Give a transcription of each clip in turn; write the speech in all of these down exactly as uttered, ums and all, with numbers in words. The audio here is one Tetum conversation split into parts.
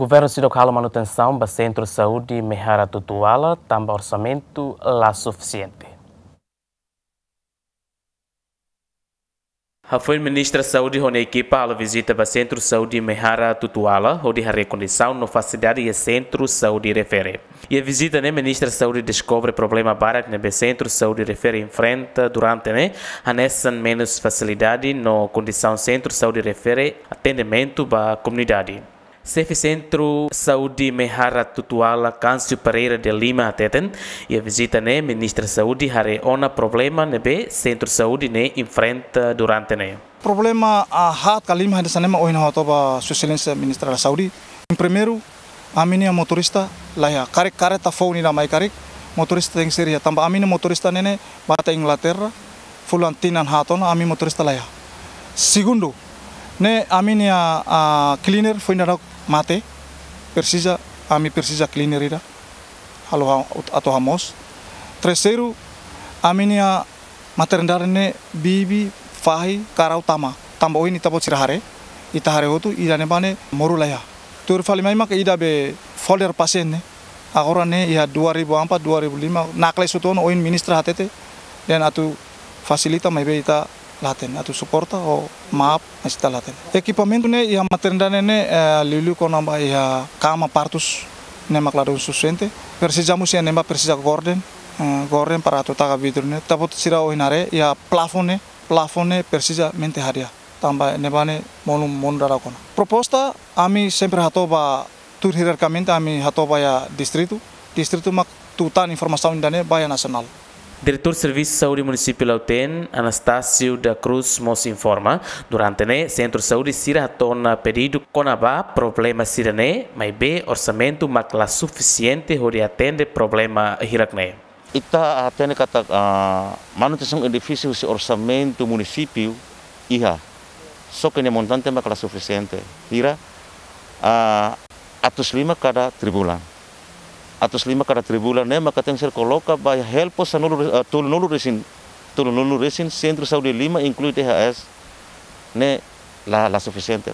Governu seidauk halo manutensaun ba Sentru Saúde Mehara Tutuala tanba orsamentu la sufisiente. Hafoin Ministra Saúde ho nia ekipa halo vizita ba Sentru Saúde Mehara Tutuala, hodi haree kondisaun no fasilidade iha sentru saúde refere. Iha vizita ne'e, Ministra Saúde deskobre problema barak ne'ebé sentru saúde refere enfrenta durante ne'e, hanesan menus fasilidade no kondisaun sentru saúde refere atendimentu ba komunidade. Xefe Sentru Saúde Mehara Tutuala, Câncio Pereira de Lima, hateten, iha vizita ne'e, Ministra Saúde haree ona problema ne'ebé sentru saúde ne'e enfrenta durante ne'e. Problema, ah, haat ka lima hanesan ne'e mak ohin ha'u hato'o ba Sua Exelénsia Ministra da Saúde. Em primeiro, ami-nia motorista laiha. Karik kareta foun ida mai karik, motorista tenke ser iha. Tanba ami-nia motorista ne'e ne'e bá to'o Inglaterra, fulan tinan haat ona, ami motorista laiha. Segundu, ne'e ami-nia, ah, cleaner foin daudauk mate, presiza, ami presiza cleaner ida halo ha-, atu hamoos. Terseiru, ami-nia maternidade ne'e bibi, fahi, karau tama. Tanba ohin ita-boot sira haree, ita haree hotu, ida ne'ebá ne'e moru laiha. Tuir fali mai maka ida be folder pasien ne'e. Agora ne'e iha dua ribu empat, dua ribu lima, nakle sutu ona, ohin ministra hatete, dehan atu fasilita maibé ita la hatene, atu suporta ho maaf, mas ita la hatene. Ekipamentu ne'e iha maternidade ne'e, eh, liuliu kona-ba iha kama partus ne'e mak ladún sufisiente. Presiza mós iha ne'ebá presiza gorden, eh, gorden para atu taka vidru ne'e. Ita-boot sira ohin haree iha plafon ne'e, plafon ne'e presiza mente hadi'a. Tanba ne'ebá ne'e monu, monu daudauk ona. Proposta, ami sempre hato'o ba, tuir hierarkamente ami hato'o ba iha distritu. Distritu mak tutan informasaun ida-ne'e ba iha nasionál. Diretór Servisu Saúde Munisípiu Lautém, Anastácio da Cruz, mós informa, durante ne'e sentru saúde sira hato'o ona pedidu kona-ba problema sira-ne'e, maibé orsamentu mak la sufisiente hodi atende problema hirak ne'e. Ita hatene katak, ah, manutensaun edifísiu husi orsamentu munisípiu iha. Só ke nia montante mak la sufisiente. Hira, ah, atus lima kada tribulan. Atus lima kada tribulan ne'e maka tenke ser koloka ba iha helpos sanulu re-, ah, tolunulu resin, tolunulu resin sentru saúde lima inklui D H S ne'e la, la sufisiente.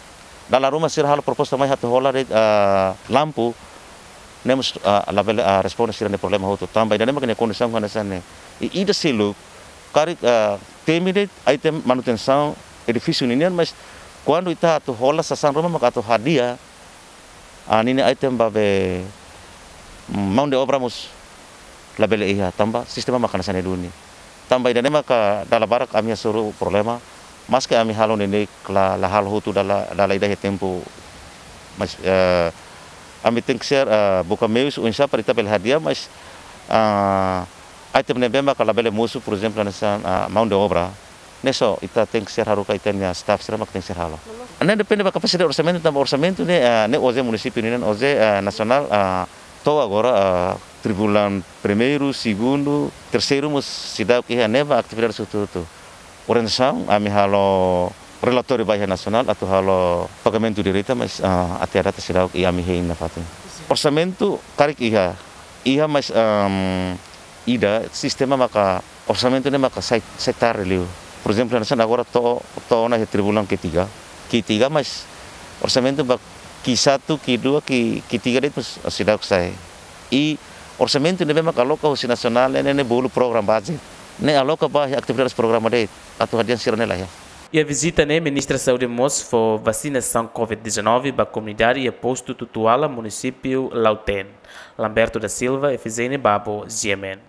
Dala ruma sira halo proposta mai atu hola de'it, ah, lampu, ne'e mós, ah, labele, ah, responde sira-nia problema hotu. Tanba ida-ne'e mak nia kondisaun hanesan ne'e. I ida seluk, karik, ah, temi de'it item manutensaun edifísiu ninian, mas kuandu ita atu hola sasán ruma maka atu hadi'a, ah, ninia item ba be, mm, mão de obra mós labele iha, tanba sistema mak hanesan ne'e duni. Tanba ida-ne'e maka dala barak ami hasoru problema, maske ami halo neineik la, la halo hotu dala, dala ida iha tempu, mas, eh, ami tenke ser, eh, buka meius oinsá para ita bele hadi'a, mas, ah, item ne'ebé maka labele mosu, por ezemplu, hanesan, ah, mão de obra. Ne'e só, ita tenke ser haruka ita-nia staff sira mak tenke ser halo. Ne'e depende ba kapasidade orsamentu, tanba orsamentu ne'e, ah, ne'e OJE munisípiu nian, OJE, ah, nasionál, ah, to'o agora, ah, tribulan primeiru, segundu, terseiru mós seidauk iha, ne'ebá atividade hotu-hotu. Orientasaun, ami halo relatóriu ba iha nasionál, atu halo pagamentu direta, mas, ah, até data seidauk iha ami hein nafatin. Orsamentu karik iha, iha mas, ehm, ida, sistema maka orsamentu ne'e maka sai, sai tarde liu. Por ezemplu, hanesan agora to'o, to'o ona iha tribulan ketiga. Ketiga, mas orsamentu ba Q satu, Q dua, Q, Q tiga de'it mós seidauk sai. I orsamentu ne'ebé maka aloka husi nasionál ne'e, ne'e, ne'e bolu program budget. Ne'e aloka ba iha atividades programa de'it, atu hadi'a sira-ne'e laiha. Iha vizita ne'e, Ministra Saúde mós fó vasinasaun covid dezanove ba komunidade iha postu Tutuala, munisípiu Lautém. Lamberto da Silva, F Z N Babo, G M N.